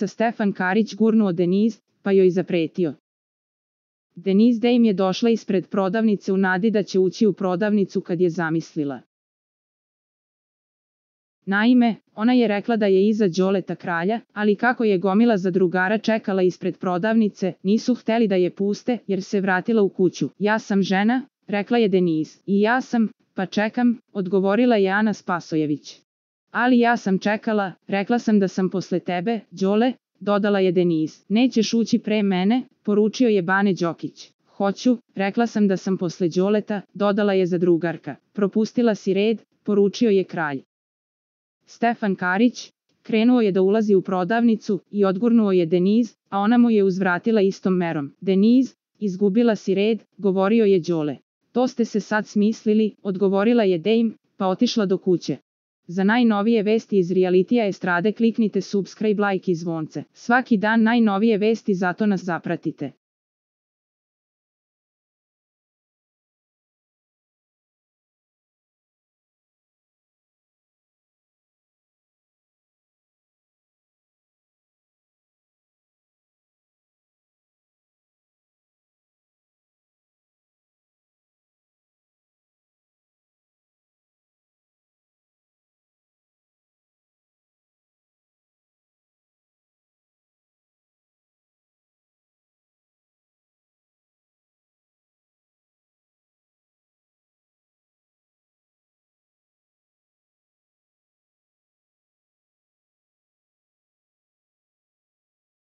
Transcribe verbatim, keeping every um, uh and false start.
Stefan Karić gurnuo Deniz, pa joj zapretio. Deniz Dame je došla ispred prodavnice u nadi da će ući u prodavnicu kad je zamislila. Naime, ona je rekla da je iza Đoleta kralja, ali kako je gomila zadrugara čekala ispred prodavnice, nisu hteli da je puste jer se vratila u kuću. Ja sam žena, rekla je Deniz. I ja sam, pa čekam, odgovorila je Ana Spasojević. Ali ja sam čekala, rekla sam da sam posle tebe, Đole, dodala je Deniz. Nećeš ući pre mene, poručio je Bane Đokić. Hoću, rekla sam da sam posle Đoleta, dodala je zadrugarka. Propustila si red, poručio je kralj. Stefan Karić krenuo je da ulazi u prodavnicu i odgurnuo je Deniz, a ona mu je uzvratila istom merom. Deniz, izgubila si red, govorio je Đole. To ste se sad smislili, odgovorila je Dame, pa otišla do kuće. Za najnovije vesti iz realitija estrade kliknite subscribe, like i zvonce. Svaki dan najnovije vesti, zato nas zapratite.